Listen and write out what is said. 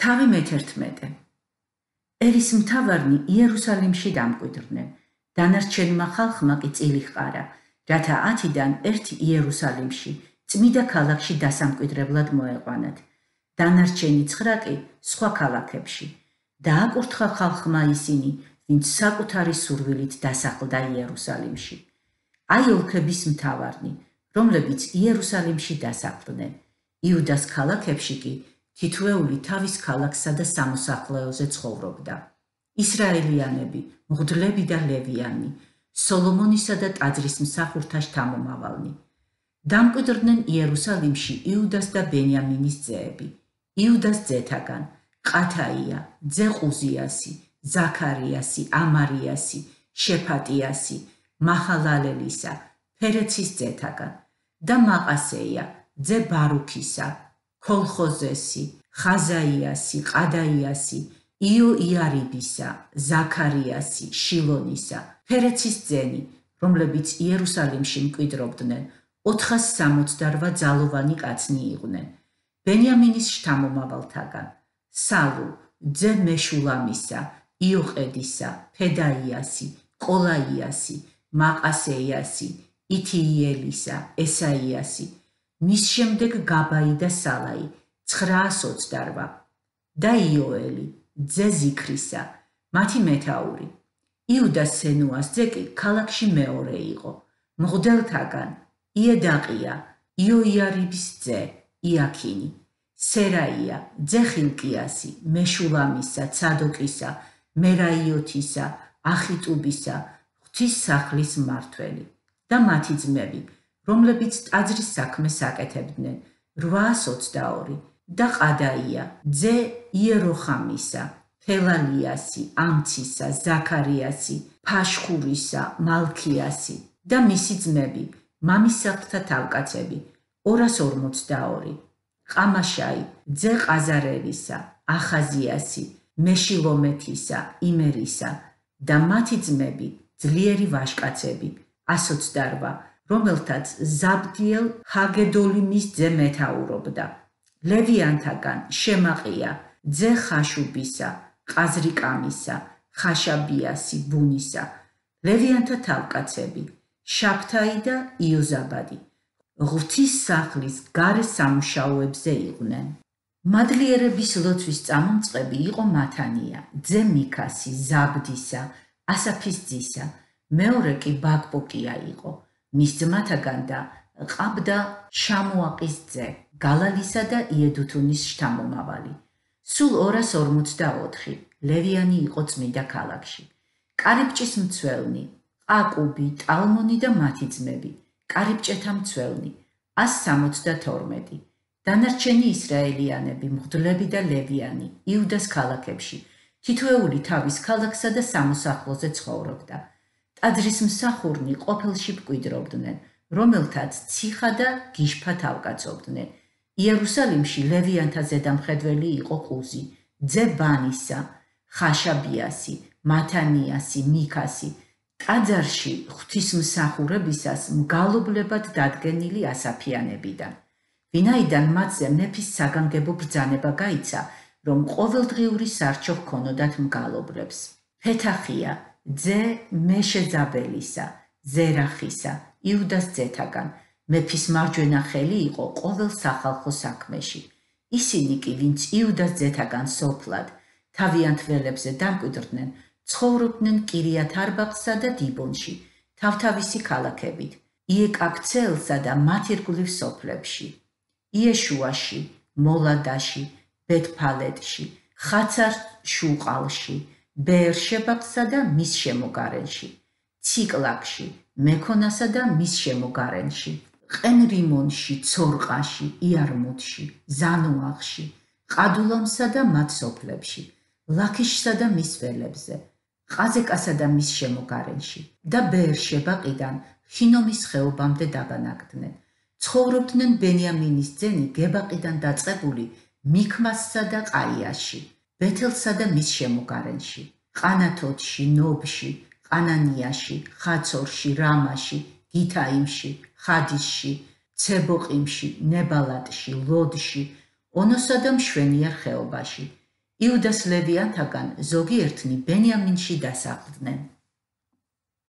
თავი მე-11. ერისმთავარნი იერუსალიმში დამკვიდრდნენ, დანარჩენმა ხალხმა კი წილი ჰყარა, რათა 10-დან ერთი იერუსალიმში, წმიდა ქალაქში დასამკვიდრებლად მოეყვანათ, დანარჩენი 9 კი სხვა ქალაქებში. დააკურთხა ხალხმა ისინი, ვინც საკუთარი სურვილით დასახლდა იერუსალიმში. აი ოლქების მთავარნი, რომლებიც იერუსალიმში დასახლდნენ, იუდას ქალაქებში კი თითოეული თავის ქალაქსა და სამოსახლეოზე ცხოვრობდა. ისრაელიანები, მღვდლები და ლევიანი, სოლომონისა და ტაძრის მსახურთა შთამომავალნი. დამკვიდრდნენ იერუსალიმში იუდას და ბენიამინის ძეები. იუდას ძეთაგან ყათაია, ძე ყუზიასი, ზაქარიასი, ამარიასი, შეფატიასი, მაჰალალელისა, ფერეცის ძეთაგან და მაყასეია, ძე ბარუქისა, ქოლხოზესი, ხაზაიასი, ყადაიასი, იოიარიბისა, ზაქარიასი, შილონისა, ფერეცის ძენი, რომლებიც იერუსალიმში მკვიდრობდნენ, 468 ძალოვანი კაცნი იყვნენ. ბენიამინის შთამომავალთაგან სალუ, ძე მეშულამისა, იოყედისა, ფედაიასი, ყოლაიასი, მაყასეიასი, ითიიელისა, ესაიასი, მის შემდეგ გაბაი და სალაი, 928 და იოელი, ძე ზიქრისა, მათი მეთაური. იუდას სენუას ძე კი ქალაქში მეორე იყო. მღვდელთაგან იედაყია, იოიარიბის ძე, იაქინი, სერაია, ძე ხილკიასი, მეშულამისა, ცადოკისა, მერაიოთისა, ახიტუბისა, ღვთის სახლის მმართველი და მათი ძმები, რომლებიც ტაძრის საქმეს აკეთებდნენ, 822 და ყადაია, ძე იეროხამისა, ფელალიასი, ამცისა, ზაქარიასი, ფაშხურისა, მალქიასი და მისი ძმები, მამისაყთა თავკაცები, 242, ყამაშაი, ძე ყაზარელისა, ახაზიასი, მეშილომეთისა, იმერისა და მათი ძმები, ძლიერი ვაჟკაცები, 128, რომელთაც ზაბდიელ ჰაგედოლიმის ძე მეთაურობდა. ლევიანთაგან შემაყია, ძე ხაშუბისა, ყაზრიკამისა, ხაშაბიასი, ბუნისა, ლევიანთა თავკაცები, შაფთაი და იოზაბადი, ღვთის სახლის გარე სამუშაოებზე იყვნენ. მადლიერების ლოცვის წამომწყები იყო მათანია, ძე მიქასი, ზაბდისა, ასაფის ძისა, მეორე კი ბაკბოკია იყო, მის ძმათაგან და ყაბდა შამუაყის ძე, გალალისა და იედუთუნის შთამომავალი. სულ 244 ლევიანი იყო წმიდა ქალაქში. კარიბჭის მცველნი, ყაკუბი, ტალმონი და მათი ძმები, კარიბჭეთა მცველნი, 172. დანარჩენი ისრაელიანები, მღვდლები და ლევიანი, იუდას ქალაქებში, თითოეული თავის ქალაქსა და სამოსახლოზე ცხოვრობდა. ტაძრის მსახურნი ყოფილში მკვიდრობდნენ, რომელთაც ციხა და გიშფა თავკაცობდნენ. იერუსალიმში ლევიანთა ზედამხედველი იყო ყუზი, ძე ბანისა, ხაშაბიასი, მათანიასი, მიქასი, ტაძარში ღვთისმსახურებისას მგალობლებად დადგენილი ასაფიანებიდან. ვინაიდან მათზე მეფის საგანგებო ბრძანება გაიცა, რომ ყოველდღიური სარჩო ჰქონოდათ მგალობლებს. ფეთახია, ძე მეშეზაბელისა, ზერახისა, იუდას ძეთაგან, მეფის მარჯვენა ხელი იყო ყოველ სახალხო საქმეში. ისინი კი, ვინც იუდას ძეთაგან სოფლად, თავიანთ ველებზე დამკვიდრდნენ, ცხოვრობდნენ კირიათ-არბაღსა და დიბონში, თავთავისი ქალაქებით, იეკაბცეელსა და მათ ირგვლივ სოფლებში, იეშუაში, მოლადაში, ბეთფალეთში, ხაცარ-შუყალში, ბეერშებასა და მის შემოგარენში, ციკლაგში, მექონასა და მის შემოგარენში, ყენრიმონში, ცორყაში, იარმუთში, ზანუაღში, ყადულამსა და მათ სოფლებში, ლაქიშსა და მის ველებზე, ყაზეკასა და მის შემოგარენში და ბეერშებაყიდან ჰინომის ხეობამდე დაბანაკდნენ. ცხოვრობდნენ ბენიამინის ძენი გებაყიდან დაწყებული მიქმასსა და ყაიაში, ბეთელსა და მის შემოგარენში, ყანათოთში, ნობში, ყანანიაში, ხაცორში, რამაში, გითაიმში, ხადისში, ცებოყიმში, ნებალატში, ლოდში, ონოსა და მშვენიარ ხეობაში, იუდას ლევიანთაგან ზოგიერთნი ბენიამინში დასახლდნენ.